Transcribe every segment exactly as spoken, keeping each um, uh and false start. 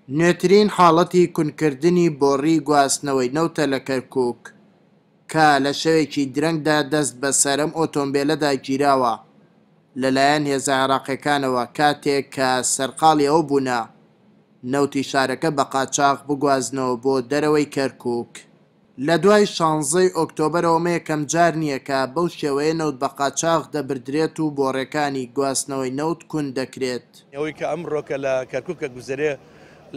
نوێترین حاڵەتی کونکردنی بۆڕی گواستنەوەی نەوتە لە کەرکوک کە لە شەوێکی درەنگدا دەست بەسەر ئەم ئۆتۆمبێلەدا گیراوە لەلایەن هێزە عێراقیەکانەوە کاتێک کە سەرقاڵی ئەوە بوونە نەوتی شارەکە بە قاچاخ بگوازنەوە بۆ دەرەوەی کەرکوک. لە دوای شانزەی ئۆکتۆبەرەوە ئەمە یەکەم جار نییە کە بەو شێوەیە نەوت بە قاچاخ دەبردرێت و بۆڕێکانی گواستنەوەی نەوت کون دەکرێت. ئەوەی کە ئەمڕۆکە لە کەرکوکە گوزەرێ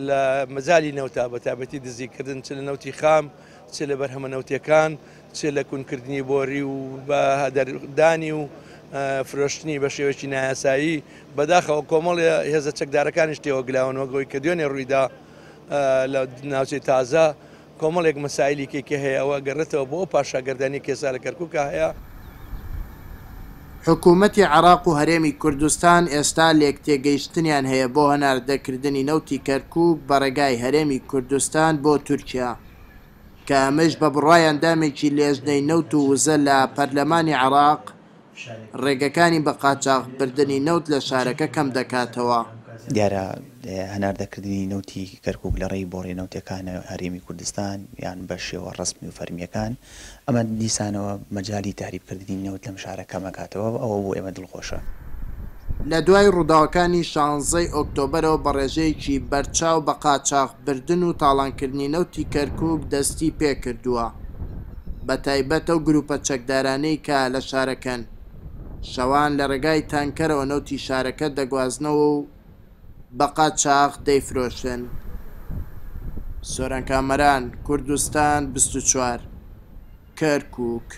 لە مەجالی نەوتا، بە تایبەتی دزیکردن چ لە نەوتی خام چ لە بەرهەمە نەوتیەکان چ لە کونکردنی بۆری و بە هەدەردانی و فرۆشتنی بە شێوەیەکی نایاسایی، بەداخەوە کۆمەڵی هێزە چەکدارەکانیش تێوەگلاون وەک ئەوەی کە دوێنێ ڕوویدا لە ناوچەی تازە کۆمەڵێک مەسایلی کێکە هەیە، ئەوە گەڕێتەوە بۆ ئەو پاشاگەردانی کێسا لە کەرکووکە هەیە. حکوومەتی عێراق و هەرێمی کوردستان ئێستا لێکتێگەیشتنیان هەیە بۆ هەناردەکردنی نەوتی کەرکووک بە ڕێگای هەرێمی کوردستان بۆ تورکیا، کە ئەمەش بە بڕوای ئەندامێکی لێژنەی نەوت و وزە لە پەرلەمانی عێراق ڕێگەکانی بە قاچاخبردنی نەوت لە شارەکە کەم دەکاتەوە. دیارە هەناردەکردنی نەوتی کەرکوک لە ڕێی بۆڕی نەوتەکانە هەرێمی کوردستان یان بە شێوە ڕەسمی و فەرمیەکان، ئەمە دیسانەوە مەجالی تەهریبکردنی نەوت لەم شارە کەمەکاتەوە، ئەوە بۆ ئێمە دڵخۆشە. لە دوای ڕووداوەکانی شانزەی ئۆکتۆبەرەوە بە ڕێژەیەکی بەرچاو بە قاچاخبردن و تاڵانکردنی نەوتی کەرکوک دەستی پێکردووە، بە تایبەت ئەو گروپە چەکدارانەی کە لە شارەکەن شەوان لە ڕێگای تانکەرەوە نەوتی شارەکە دەگوازنەوە و بە قاچاخ دەیفرۆشن. سۆران کامەران، کوردستان بیست و چوار، کەرکوک.